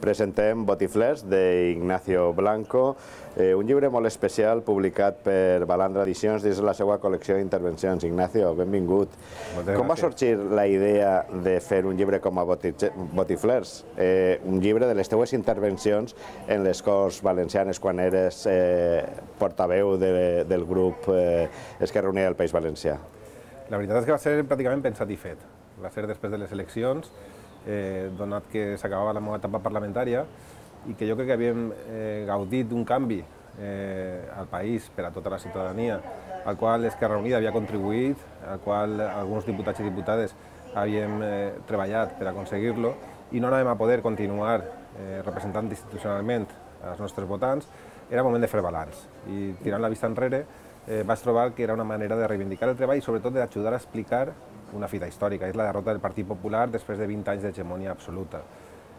Presentem Botiflers d'Ignacio Blanco, un llibre molt especial publicat per Balandra Edicions dins la seva col·lecció d'intervencions. Ignacio, benvingut. Com va sorgir la idea de fer un llibre com a Botiflers? Un llibre de les teues intervencions en les Corts Valencianes quan eres portaveu del grup Esquerra Unida del País Valencià. La veritat és que va ser pràcticament pensat i fet. Va ser després de les eleccions, donat que s'acabava la meva etapa parlamentària i que jo crec que havíem gaudit d'un canvi al país per a tota la ciutadania, al qual Esquerra Unida havia contribuït, al qual alguns diputats i diputades havíem treballat per aconseguir-lo, i no anàvem a poder continuar representant institucionalment els nostres votants. Era moment de fer balanç i, tirant la vista enrere, vaig trobar que era una manera de reivindicar el treball i sobretot d'ajudar a explicar una fita històrica, és la derrota del Partit Popular després de 20 anys d'hegemonia absoluta.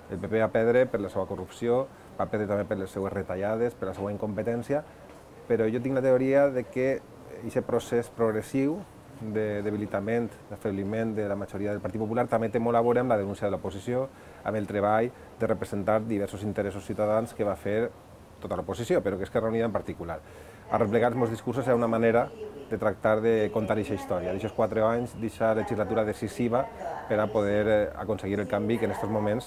El PP va perdre per la seva corrupció, va perdre també per les seues retallades, per la seva incompetència, però jo tinc la teoria de que aquest procés progressiu de debilitament, d'afebliment de la majoria del Partit Popular també té molt a veure amb la denúncia de l'oposició, amb el treball de representar diversos interessos ciutadans que va fer tota l'oposició, però que Esquerra Unida en particular. Arreplegar els meus discursos era una manera de tractar de contar aquesta història, d'aquests 4 anys, d'aquesta legislatura decisiva per a poder aconseguir el canvi que en aquests moments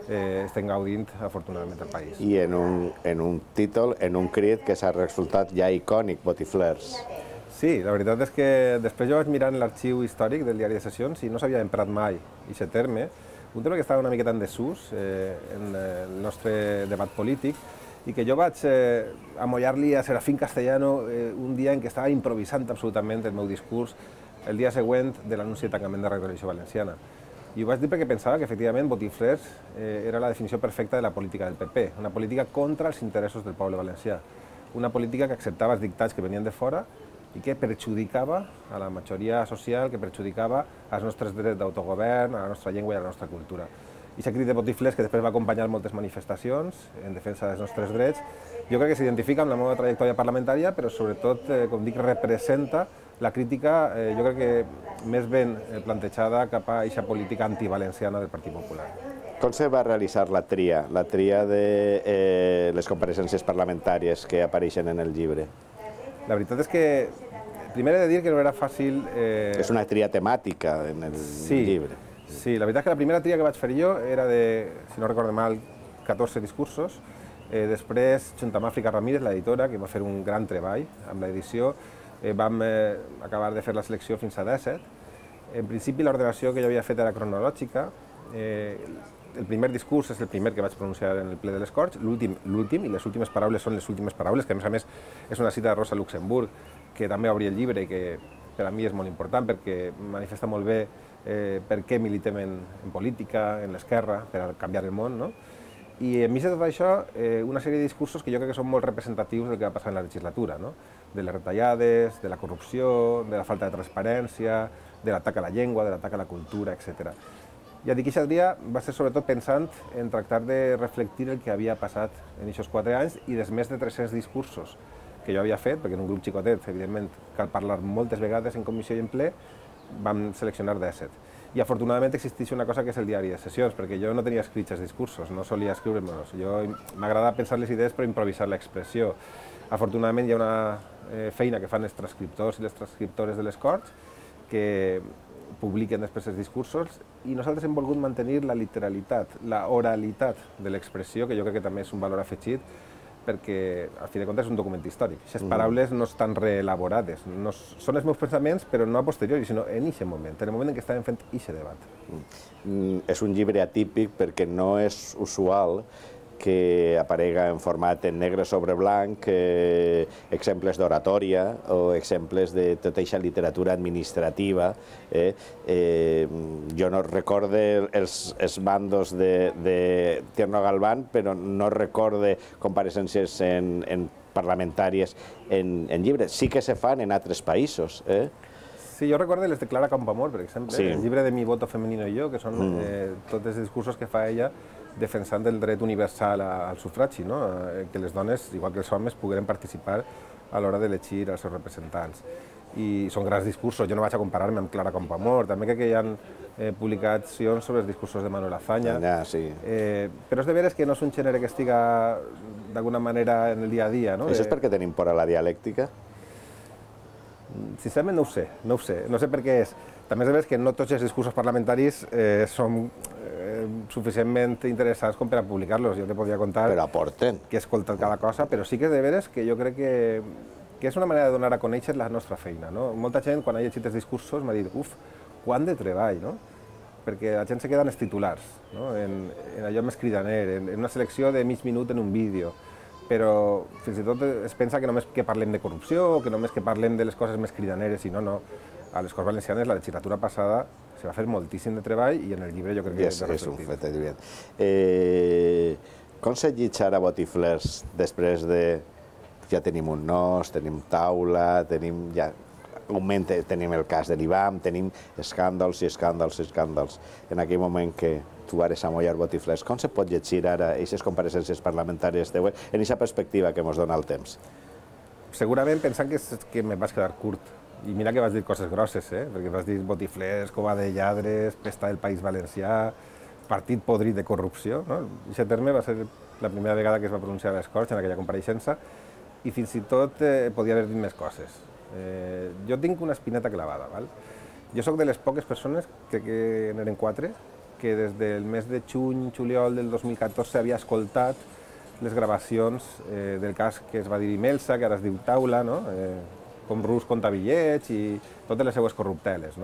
estem gaudint, afortunadament, al país. I en un títol, en un crit que s'ha resultat ja icònic, Botiflers. Sí, la veritat és que després jo vaig mirar en l'arxiu històric del diari de sessions i no s'havia emprat mai aquest terme, un terme que estava una miqueta en desús en el nostre debat polític, i que jo vaig amollar-li a Serafín Castellano un dia en què estava improvisant absolutament el meu discurs el dia següent de l'anunci de tancament de Ràdio Televisió Valenciana. I ho vaig dir perquè pensava que, efectivament, Botiflers era la definició perfecta de la política del PP, una política contra els interessos del poble valencià, una política que acceptava els dictats que venien de fora i que perjudicava a la majoria social, que perjudicava als nostres drets d'autogovern, a la nostra llengua i a la nostra cultura. I aquest crit de Botiflers, que després va acompanyar moltes manifestacions en defensa dels nostres drets, jo crec que s'identifica amb la meva trajectòria parlamentària, però sobretot, com dic, representa la crítica, jo crec que més ben plantejada cap a aquesta política antivalenciana del Partit Popular. Com se va realitzar la tria de les compareixences parlamentàries que apareixen en el llibre? La veritat és que primer he de dir que no era fàcil... És una tria temàtica en el llibre. Sí, la veritat és que la primera tria que vaig fer jo era de, si no recordo mal, 14 discursos. Després, junt amb Àfrica Ramírez, l'editora, que va fer un gran treball amb l'edició, vam acabar de fer la selecció fins a 17. En principi, l'ordenació que jo havia fet era cronològica. El primer discurs és el primer que vaig pronunciar en el ple de les Corts, l'últim, i les últimes paraules són les últimes paraules, que a més és una cita de Rosa Luxemburg, que també obri el llibre i que per a mi és molt important perquè manifesta molt bé per què militem en política, en l'esquerra, per a canviar el món, no? I enmig de tot això, una sèrie de discursos que jo crec que són molt representatius del que va passar en la legislatura, no? De les retallades, de la corrupció, de la falta de transparència, de l'atac a la llengua, de l'atac a la cultura, etc. Ja dic, aquest dia va ser sobretot pensant en tractar de reflectir el que havia passat en aquests 4 anys i dels més de 300 discursos que jo havia fet, perquè en un grup xicotet, evidentment, cal parlar moltes vegades en comissió i en ple, vam seleccionar 17. I afortunadament existeix una cosa que és el diari de sessions, perquè jo no tenia escrits els discursos, no solia escriure-me'ls. M'agrada pensar les idees però improvisar l'expressió. Afortunadament hi ha una feina que fan els transcriptors i les transcriptores de les Corts que publiquen després els discursos i nosaltres hem volgut mantenir la literalitat, la oralitat de l'expressió, que jo crec que també és un valor afegit, perquè, al fi de comptes, és un document històric. Aquestes paraules no estan reelaborades. Són els meus pensaments, però no a posteriori, sinó en aquest moment, en el moment en què estàvem fent aquest debat. És un llibre atípic perquè no és usual que aparega en format en negre sobre blanc exemples d'oratòria o exemples de tota aquesta literatura administrativa. Jo no recorde els bandos de Tierno Galván, però no recorde compareixences parlamentàries en llibres. Sí que se fan en altres països. Sí, jo recordo les de Clara Campoamor, per exemple, el llibre de Mi voto femenino i jo, que són tots els discursos que fa ella defensant el dret universal al sufragi, que les dones, igual que els homes, pogueren participar a l'hora d'elegir els seus representants. I són grans discursos, jo no vaig a comparar-me amb Clara Campoamor, també crec que hi ha publicacions sobre els discursos de Manuel Azaña, però és de veres que no és un gènere que estiga d'alguna manera en el dia a dia. Això és perquè tenim por a la dialèctica? Sincerament no ho sé, no sé per què és. També és de veres que no tots els discursos parlamentaris són suficientment interessants com per a publicar-los. Jo te podria contar que he escoltat cada cosa, però sí que és de veres que jo crec que és una manera de donar a conèixer la nostra feina. Molta gent, quan ha llegit els discursos, m'ha dit quant de treball, perquè la gent se queda en els titulars, en allò més cridaner, en una selecció de mig minut en un vídeo, però fins i tot es pensa que només que parlem de corrupció o que només que parlem de les coses més cridaneres, i no. A les Corts Valencianes, la legislatura passada, se va fer moltíssim de treball i en el llibre jo crec que és un fet evident. Com se llitja ara Botiflers després de... Ja tenim un NOS, tenim taula, tenim el cas de l'IBAM, tenim escàndols i escàndols i escàndols. En aquell moment que tu eres a Mollar Botiflers, com se pot llegir ara aquestes compareixences parlamentàries teues en aquesta perspectiva que ens dona el temps? Segurament pensant que me vaig quedar curt. I mira que vas dir coses grosses, perquè vas dir Botiflers, cova de lladres, pesta del País Valencià, partit podrit de corrupció. Aquest terme va ser la primera vegada que es va pronunciar a les Corts en aquella compareixença, i fins i tot podia haver dit més coses. Jo tinc una espineta clavada. Jo sóc de les poques persones, crec que n'eren 4, que des del mes de juny-juliol del 2014 havia escoltat les gravacions del cas que es va dir Imelsa, que ara es diu Taula, com Rus compta bitllets i totes les seues corrupteles.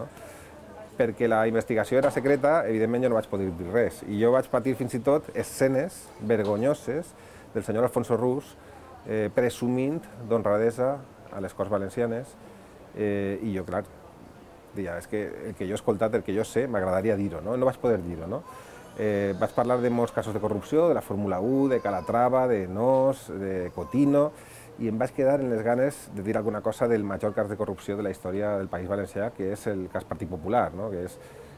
Perquè la investigació era secreta, evidentment jo no vaig poder dir res. I jo vaig patir fins i tot escenes vergonyoses del senyor Alfonso Rus presumint d'honradesa a les Corts Valencianes, i jo, clar, és que el que jo he escoltat, el que jo sé, m'agradaria dir-ho, no vaig poder dir-ho. Vaig parlar de molts casos de corrupció, de la Fórmula 1, de Calatrava, de NOS, de Cotino, i em vaig quedar en les ganes de dir alguna cosa del major cas de corrupció de la història del País Valencià, que és el cas Partit Popular, que és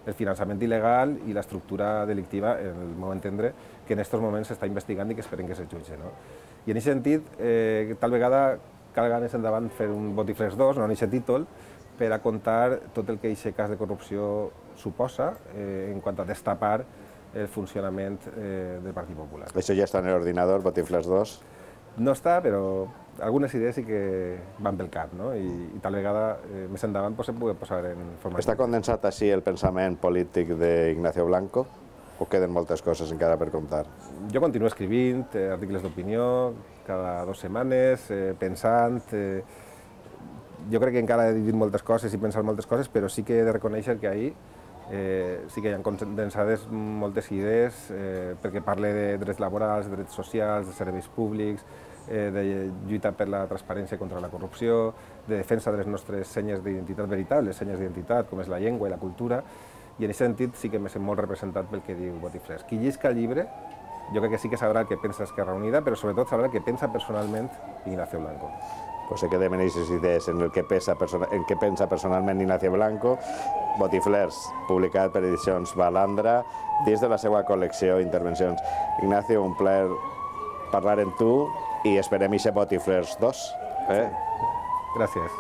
el finançament il·legal i l'estructura delictiva, en el meu entendre, que en aquests moments s'està investigant i que esperem que se jutge. I en aquest sentit, tal vegada cal ganes endavant fer un Botiflers 2, no en aquest títol, per a contar tot el que aquest cas de corrupció suposa en quant a destapar el funcionament del Partit Popular. Això ja està en l'ordinador, Botiflers 2? No està, però algunes idees sí que van pel cap, i tal vegada més endavant se pugui posar en forma... Està condensat així el pensament polític d'Ignacio Blanco? O queden moltes coses encara per contar? Jo continuo escrivint articles d'opinió cada 2 setmanes, pensant... Jo crec que encara he dit moltes coses i pensat moltes coses, però sí que he de reconèixer que ahir sí que hi ha condensades moltes idees, perquè parle de drets laborals, de drets socials, de serveis públics, de lluita per la transparència contra la corrupció, de defensa de les nostres senyes d'identitat veritables, senyes d'identitat, com és la llengua i la cultura, i en aquest sentit sí que me sent molt representat pel que diu Botiflers. Qui llisca el llibre, jo crec que sí que sabrà el que pensa Esquerra Unida, però sobretot sabrà el que pensa personalment Ignacio Blanco. Pues se queden aquestes idees en què pensa personalment Ignacio Blanco. Botiflers, publicat per Edicions Balandra, dins de la seva col·lecció Intervencions. Ignacio, un plaer parlar amb tu i esperem aquest Botiflers 2. Gràcies.